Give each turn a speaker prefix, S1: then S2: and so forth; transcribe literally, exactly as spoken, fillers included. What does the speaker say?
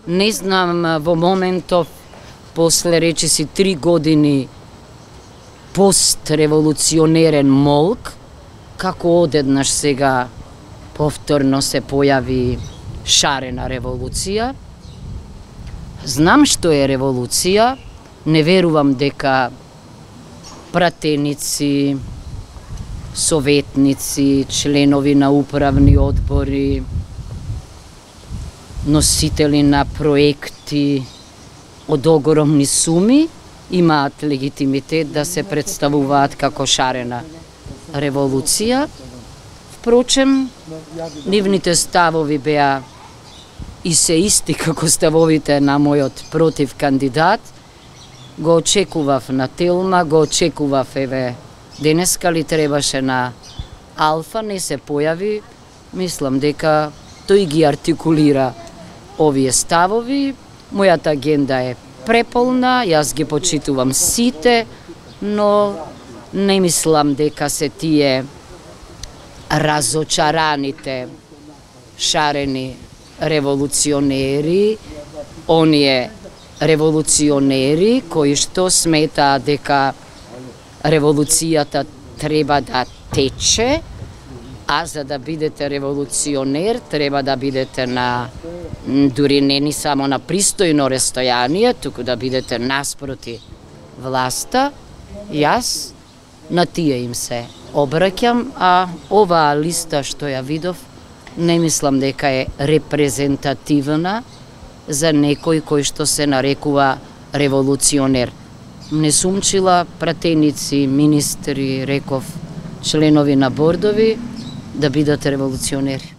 S1: Не знам во моментов, после речиси три години постреволуционерен молк, како одеднаш сега повторно се појави шарена револуција. Знам што е револуција, не верувам дека пратеници, советници, членови на управни одбори, носители на проекти од огромни суми имаат легитимитет да се представуваат како шарена револуција. Впрочем, нивните ставови беа и се исти како ставовите на мојот против кандидат. Го очекував на Телма, го очекував еве денеска ли требаше на Алфа, не се појави. Мислам дека тој ги артикулира овие ставови. Мојата агенда е преполна, јас ги почитувам сите, но не мислам дека се тие разочараните шарени револуционери, оние револуционери кои што сметаат дека револуцијата треба да тече, а за да бидете револуционер треба да бидете на, дури не ни само на пристојно растојание, туку да бидете наспроти власта. Јас на тие им се обраќам, а оваа листа што ја видов, не мислам дека е репрезентативна за некој кој што се нарекува револуционер. Не сум чила пратеници, министри, реков, членови на бордови да бидат револуционери.